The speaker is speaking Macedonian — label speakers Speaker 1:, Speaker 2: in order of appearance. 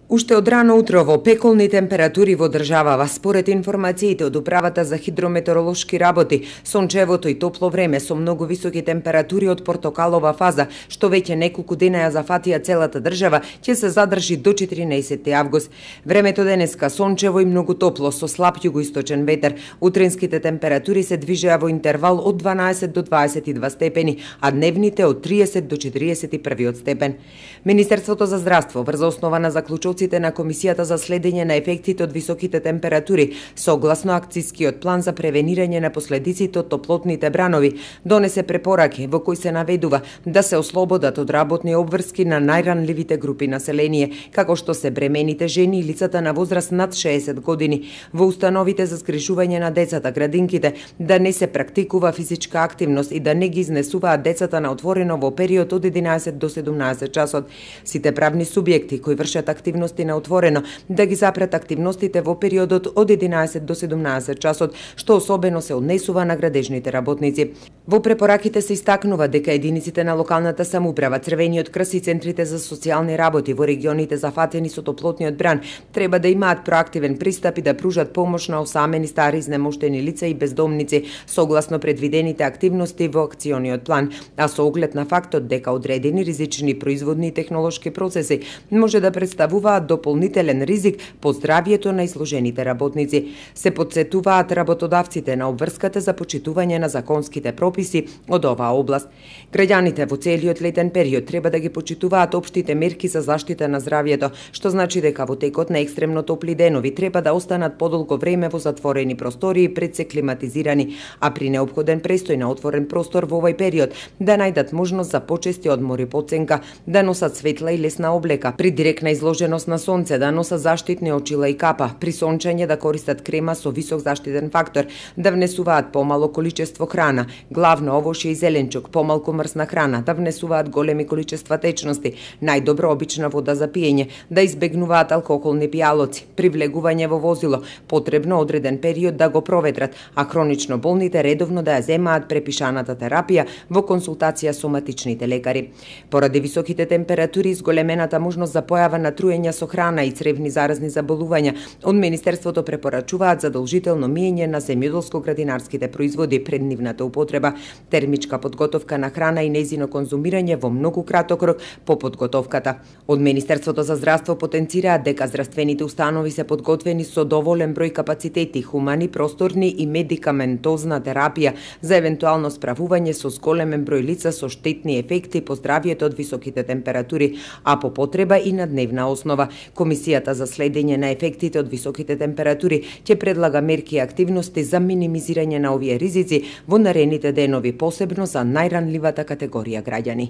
Speaker 1: Уште од рано утро во пеколни температури во државава, според информациите од Управата за хидрометеоролошки работи, сончевото и топло време со многу високи температури од портокалова фаза, што веќе неколку дена ја зафатија целата држава, ќе се задржи до 14 август. Времето денеска сончево и многу топло со слаб југоисточен ветер. Утринските температури се движеа во интервал од 12 до 22 степени, а дневните од 30 до 41 степен. Министерството за здравство врз основа на заклучоците на Комисијата за следење на ефектите од високите температури, согласно акцијскиот план за превенирање на последиците од топлотните бранови, донесе препораки во кои се наведува да се ослободат од работни обврски на најранливите групи население, како што се бремените жени и лицата на возраст над 60 години. Во установите за згрижување на децата, градинките, да не се практикува физичка активност и да не ги изнесуваат децата на отворено во период од 11 до 17 часот. Сите правни субјекти кои вршат активности на отворено да ги запрат активностите во периодот од 11 до 17 часот, што особено се однесува на градежните работници. Во препораките се истакнува дека единиците на локалната самоуправа, Црвениот крст и центрите за социјални работи во регионите зафатени со топлотниот бран треба да имаат проактивен пристап и да пружат помош на осамени, стари, изнемоштени лица и бездомници, согласно предвидените активности во акциониот план, а со оглед на фактот дека одредени ризични производни и технолошки процеси може да представуваат дополнителен ризик по здравието на изложените работници. Се потсетуваат работодавците на обврската за почитување на законските прописи од оваа област. Граѓаните во целиот летен период треба да ги почитуваат општите мерки за заштита на здравието, што значи дека во текот на екстремно топли денови треба да останат подолго време во затворени простории пред се климатизирани, а при неопходен престој на отворен простор во овој период да најдат можност за почести одмори по оценка, да носат светла и лесна облека, при директна изложеност на сонце да носат заштитни очила и капа, при сончење да користат крема со висок заштитен фактор, да внесуваат помало количество храна, главно овошје и зеленчук, помалку мрсна храна, да внесуваат големи количества течности, најдобро обична вода за пиење, да избегнуваат алкохолни пијалоци, при влегување во возило, потребно одреден период да го проветрат, а хронично болните редовно да ја земаат препишаната терапија во консултација со матичните лекари. Поради високите температури и зголемената можност за појава на труење со храна и цревни заразни заболувања, од Министерството препорачуваат задолжително миење на земјоделско-градинарските производи пред нивната употреба, термичка подготовка на храна и нејзино конзумирање во многу краток рок по подготовката. Од Министерството за здравство потенцираат дека здравствените установи се подготвени со доволен број капацитети, хумани, просторни и медикаментозна терапија за евентуално справување со зголемен број лица со штетни ефекти по здравието од високите температури, а по потреба и на дневна основа. Комисијата за следење на ефектите од високите температури ќе предлага мерки и активности за минимизирање на овие ризици во наредните денови, посебно за најранливата категорија граѓани.